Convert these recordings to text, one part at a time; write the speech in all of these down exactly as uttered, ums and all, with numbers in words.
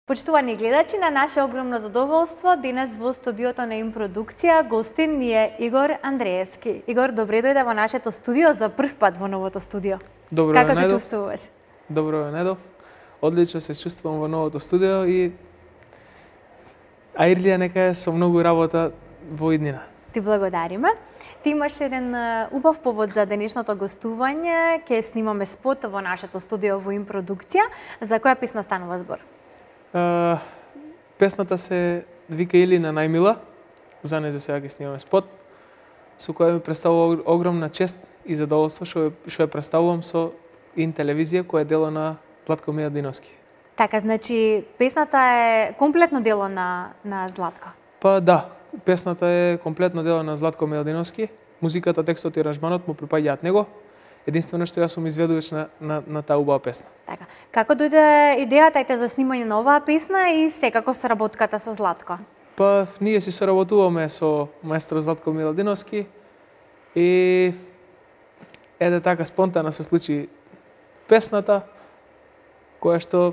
Почитувани гледачи, на наше огромно задоволство, денес во студиото на Им продукција гостин ни е Игор Андреевски. Игор, добре дојде во нашето студио за прв пат во новото студио. Добро Како ве се најдов. чувствуваш? Добро ве најдов. Одлично се чувствувам во новото студио и Аирлија нека е со многу работа во иднина. Ти благодариме. Ти имаш еден убав повод за денешното гостување. Ќе снимаме спот во нашето студио во Им продукција. За која песна станува збор? Uh, песната се вика Илина најмила, за неја за сега ќе снимаме спот, со која ми представува огромна чест и задоволство што што ја представувам со Ин телевизија која е дело на Златко Миладиновски. Така, значи песната е комплетно дело на на Златко. Па да, песната е комплетно дело на Златко Миладиновски. Музиката, текстот и аранжманот му припаѓаат него. Единствено што јас сум изведувач на, на, на таа убава песна. Така. Како дојде идејата за снимање на оваа песна и секако соработката со Златко? Па ние си соработуваме со маестро Златко Миладиновски и еде така спонтано се случи песната која што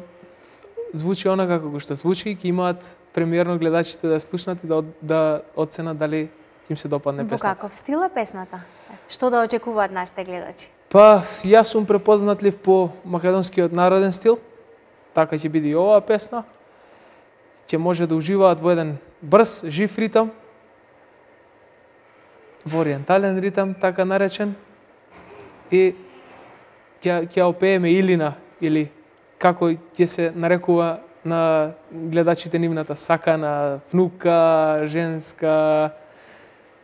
звучи онака како што звучи и ќе имаат премиерно гледачите да слушнат и да, да оценат дали им се допадне песната. Во каков стил е песната? Што да очекуваат нашите гледачи? Па, јас сум препознатлив по македонскиот народен стил, така ќе биде и оваа песна. Ќе може да уживаат во еден брз, жив ритам, во ориентален ритам, така наречен, и ќе ќе опееме Илина, или како ќе се нарекува на гледачите нивната сакана внука, женска,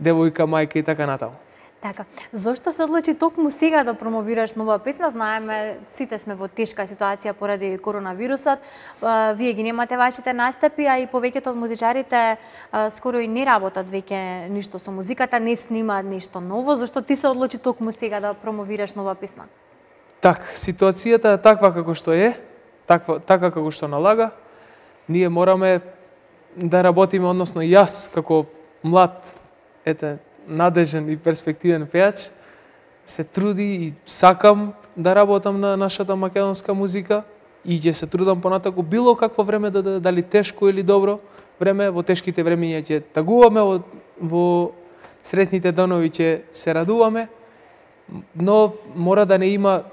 девојка, мајка и така натаму. Така, зошто се одлучи токму сега да промовираш нова песна? Знаеме, сите сме во тешка ситуација поради коронавирусот. Вие ги немате вашите настапи, а и повеќето од музичарите скоро и не работат веќе ништо со музиката, не снимаат ништо ново. Зошто ти се одлучи токму сега да промовираш нова песна? Так, ситуацијата е таква како што е, таква, така како што налага. Ние мораме да работиме, односно јас како млад, ете, надежен и перспективен пејач, се труди и сакам да работам на нашата македонска музика и ќе се трудам понатаку било какво време да, да дали тешко или добро време, во тешките времиња ќе тагуваме, во, во сретните данови ќе се радуваме, но мора да не има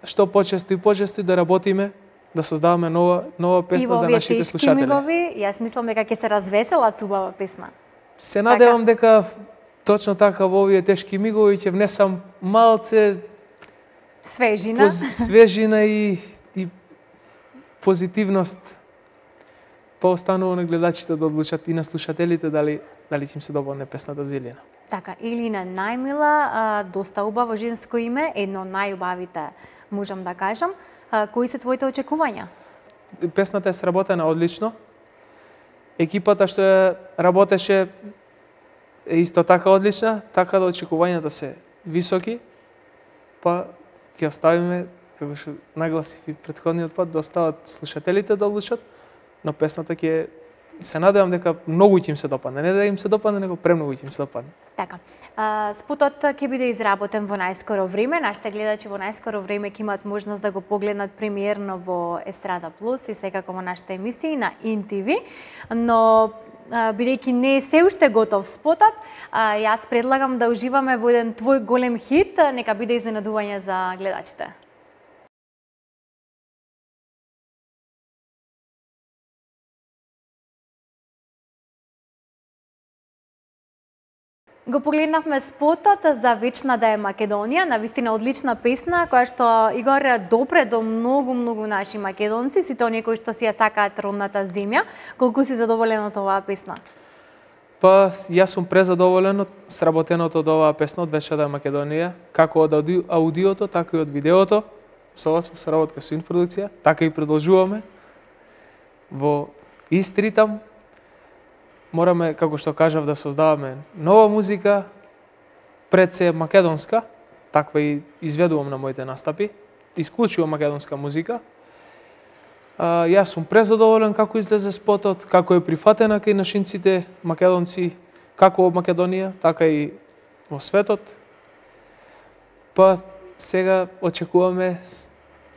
што почесто и почесто да работиме, да создаваме нова нова песна за нашите слушатели. И во овие тешки мигови, јас мислам дека ќе се развеселат со убава песна. Се надевам дека точно така во овие тешки мигови ќе внесам малце свежина, поз, свежина и, и позитивност. Па останува на гледачите да одлучат и на слушателите дали дали ќе им се допадне песната за Илина. Така, Илина најмила, а, доста убаво женско име, едно од најубавите, можам да кажам. А, кои се твоите очекувања? Песната е сработена одлично. Екипата што ја работеше е исто така одлична, така да очекувањата се високи, па ќе оставиме, како што нагласив и претходниот пат, да остават слушателите да одлучат, но песната ќе се надевам дека многу ќе им се допадне, не да им се допадне, него премногу ќе им се допадне. Така, а, спотот ќе биде изработен во најскоро време, нашите гледачи во најскоро време ќе имаат можност да го погледнат премиерно во Естрада Плюс и секако во нашите емисии на Ин Ти Ви, но бидејќи не е се уште готов спотот, јас предлагам да уживаме во еден твој голем хит, нека биде изненадување за гледачите. Го погледнавме спотот за Вечна да е Македонија, навистина одлична песна која што Игор допре до многу многу наши македонци, сите оние кои што си ја сакаат родната земја. Колку си задоволен од оваа песна? Па јас сум презадоволен од сработеното од оваа песна од Вечна да е Македонија, како од ауди, аудиото, така и од видеото, со вас во соработка со Ин продукција, така и продолжуваме во ист ритам. Мораме, како што кажав, да создаваме нова музика, пред се македонска, таква и изведувам на моите настапи, исклучиво македонска музика. А, јас сум презадоволен како излезе спотот, како е прифатена кај нашинците македонци, како во Македонија, така и во светот. Па сега очекуваме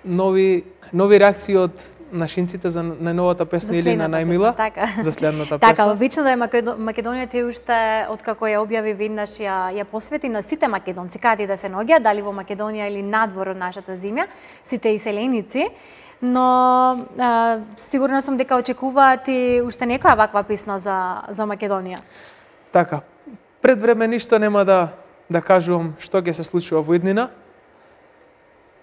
нови нови реакции од нашинците за најновата песна или на најмила, така. За следната така, песна. Така, вично да е Македонија ти уште откако ја објави веднаш ја ја посвети на сите македонци, каде да се наоѓаат, дали во Македонија или надвор од нашата земја, сите иселеници. Но а, сигурна сум дека очекуваат и уште некоја ваква песна за за Македонија. Така. Пред време ништо нема да да кажувам што ќе се случува во иднина.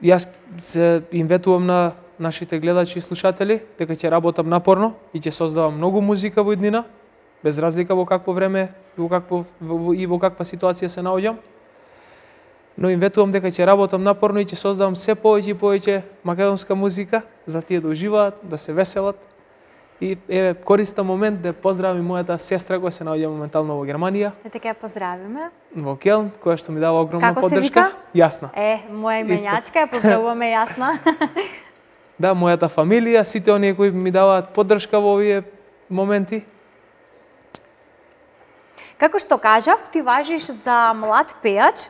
Јас се им ветувам на нашите гледачи и слушатели дека ќе работам напорно и ќе создавам многу музика во иднина, без разлика во какво време и во какво во, и во каква ситуација се наоѓам. Но им ветувам дека ќе работам напорно и ќе создавам се повеќе и повеќе македонска музика за тие да уживаат, да се веселат. И еве користам момент да поздравам мојата сестра која се наоѓа моментално во Германија. Да така ја поздравиме. Во Келн, која што ми дава огромна Како поддршка. Се вика? Јасна. Е, моја именјачка, ја поздравуваме Јасна. Да, мојата фамилија, сите оние кои ми даваат поддршка во овие моменти. Како што кажав, ти важиш за млад пејач,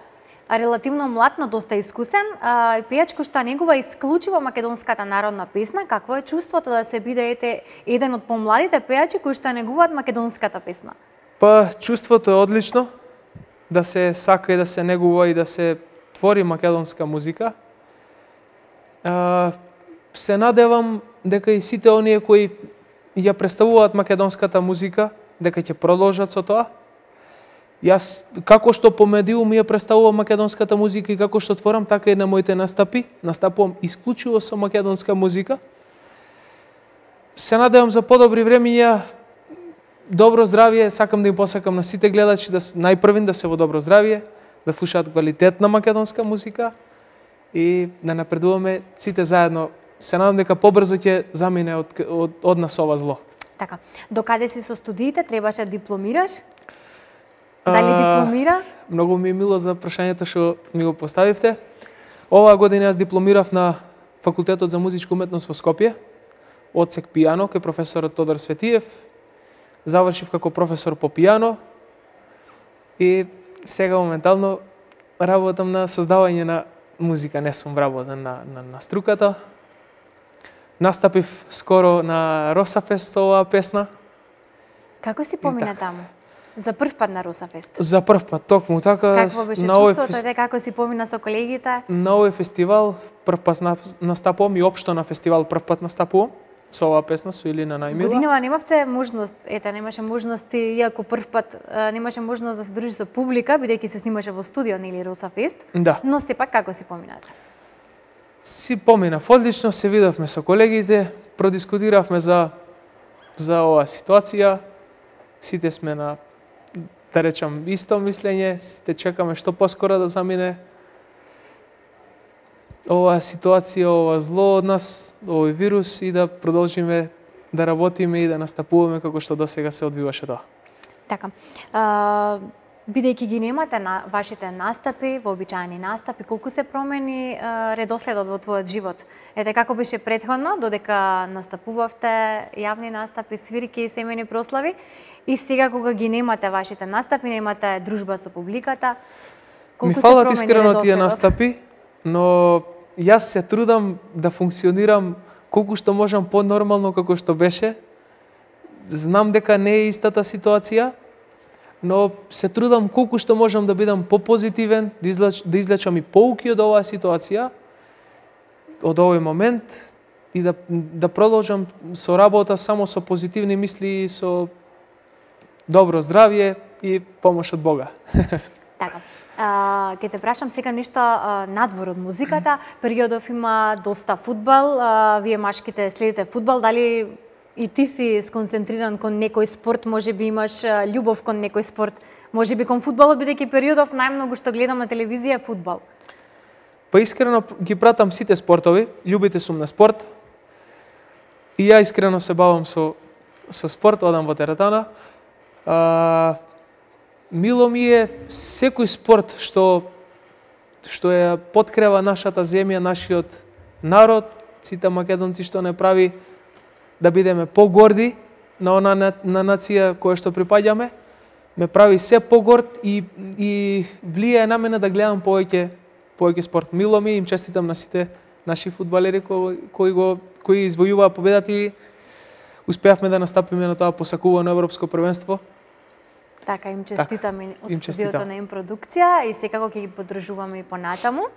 релативно млад, но доста искусен, а, пејач кој што негува исклучиво македонската народна песна. Какво е чувството да се бидете еден од помладите пејачи кои што негуваат македонската песна? Па, чувството е одлично, да се сака и да се негува и да се твори македонска музика. А, се надевам дека и сите оние кои ја представуваат македонската музика, дека ќе продолжат со тоа. Јас, како што по медиум ја представувам македонската музика и како што творам, така и на моите настапи. Настапувам исклучиво со македонска музика. Се надевам за подобри времиња, добро здравје, сакам да им посакам на сите гледачи, да најпрвин да се во добро здравје, да слушаат квалитетна македонска музика и да напредуваме сите заедно. Се надам дека побрзо ќе замине од, од, од нас ова зло. Така, докаде си со студиите, требаше да дипломираш? Дали дипломира? А, многу ми е мило за прашањето што ми го поставивте. Оваа година јас дипломирав на Факултетот за музичка уметност во Скопје, одсек пијано, кај професорот Тодор Светиев. Завршив како професор по пијано и сега моментално работам на создавање на музика, не сум вработен на, на, на струката. Настапив скоро на Росафест со оваа песна. Како си помина таму? За прв пат на Росафест? За прв пат, токму така. Какво беше чувството, фест... како си помина со колегите? На овој фестивал прв пат настапувам и општо на фестивал прв пат настапувам со оваа песна, со Илина Најмила. Годинава немавте можност, ете, немаше можности, иако прв пат немаше можност да се дружи со публика, бидејќи се снимаше во студио нели Росафест. Да. Но сепак како си поминате? Си поминав одлично, се видовме со колегите, продискутиравме за за оваа ситуација. Сите сме на, да речам, исто мислење, сите чекаме што поскоро да замине оваа ситуација, ова зло од нас, овој вирус и да продолжиме да работиме и да настапуваме како што досега се одвиваше тоа. Така. А, бидејќи ги немате на вашите настапи, вообичаени настапи, колку се промени а, редоследот во твојот живот? Ете како беше претходно, додека настапувавте јавни настапи, свирки и семејни прослави, и сега кога ги немате вашите настапи, немате дружба со публиката, колку ми фалат искрено тие настапи, но јас се трудам да функционирам колку што можам по-нормално како што беше. Знам дека не е истата ситуација, но се трудам колку што можам да бидам по-позитивен, да, излеч, да излечам и поуки од оваа ситуација, од овој момент и да, да продолжам со работа само со позитивни мисли и со добро здравје и помош од Бога. Така. А, ке те прашам сега нешто а, надвор од музиката. Периодов има доста фудбал, а, вие машките следите фудбал, дали и ти си сконцентриран кон некој спорт, може би имаш а, љубов кон некој спорт, може би кон фудбалот, бидејќи периодов најмногу што гледам на телевизија е фудбал. Па искрено ги пратам сите спортови, љубите сум на спорт. И ја искрено се бавам со со спорт, одам во теретана. А, мило ми е секој спорт што што ја поткрева нашата земја, нашиот народ, сите македонци што не прави да бидеме погорди на она на, на нација која што припаѓаме, ме прави се погорд и и влијае на мене да гледам повеќе повеќе спорт. Мило ми, им честитам на сите наши фудбалери кои, кои го кои извојуваа победата и успеавме да настапиме на тоа посакувано европско првенство. Така, им честитаме од им студиото честитам. на Им продукција и секако ќе ги поддржуваме и понатаму.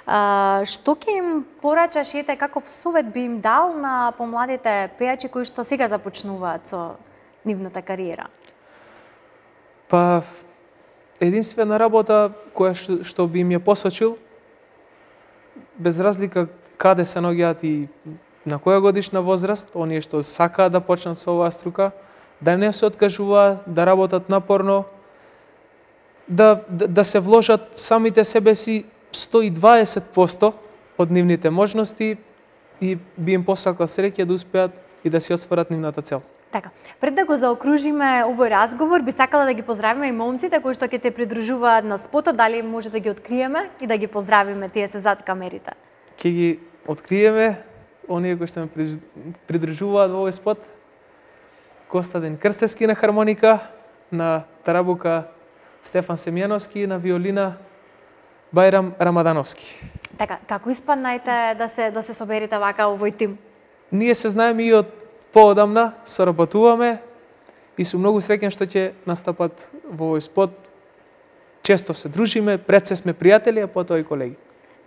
А, што ќе им порачаш, ете, каков совет би им дал на помладите пејачи кои што сега започнуваат со нивната кариера? Па, единствена работа која што, што би им ја посочил, без разлика каде се наоѓаат и на која годишна возраст, оние што сакаат да почнат со оваа струка, да не се откажуваат, да работат напорно, да, да, да се вложат самите себе си сто и дваесет проценти од нивните можности и би им посакал среќа да успеат и да си отстварат нивната цел. Така, пред да го заокружиме овој разговор, би сакала да ги поздравиме и момците кои што ќе те придружуваат на спотот, дали може да ги откриеме и да ги поздравиме, тие се зад камерите. Ќе ги откриеме, оние кои што ме придружуваат во овој спот. Костадин Крстевски на хармоника, на тарабука Стефан Семјановски, на виолина Бајрам Рамадановски. Така, како испаднајте да се да се соберете вака овој тим? Ние се знаеме и од поодамна, соработуваме и сум многу среќен што ќе настапат во овој спот. Често се дружиме, пред се сме пријатели, а потоа и колеги.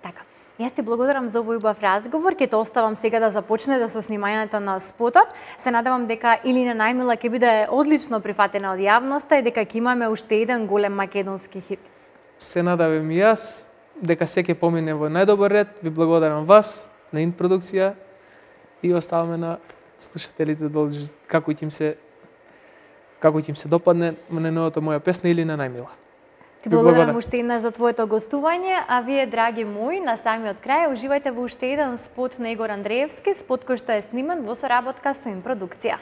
Така. Јас ти благодарам за овој убав разговор. Ќе те оставам сега да започнете со снимањето на спотот. Се надевам дека Илина Најмила ќе биде одлично прифатена од јавноста и дека ќе имаме уште еден голем македонски хит. Се надевам и јас дека се ќе помине во најдобар ред. Ви благодарам вас, на Ин продукција и оставаме на слушателите да одложат како ќе им се како ќе им се допадне на новата моја песна Илина Најмила. Ти благодарам уште еднаш за твоето гостување, а вие, драги мои, на самиот крај уживајте во уште еден спот на Игор Андреевски, спот кој што е сниман во соработка со Ин продукција.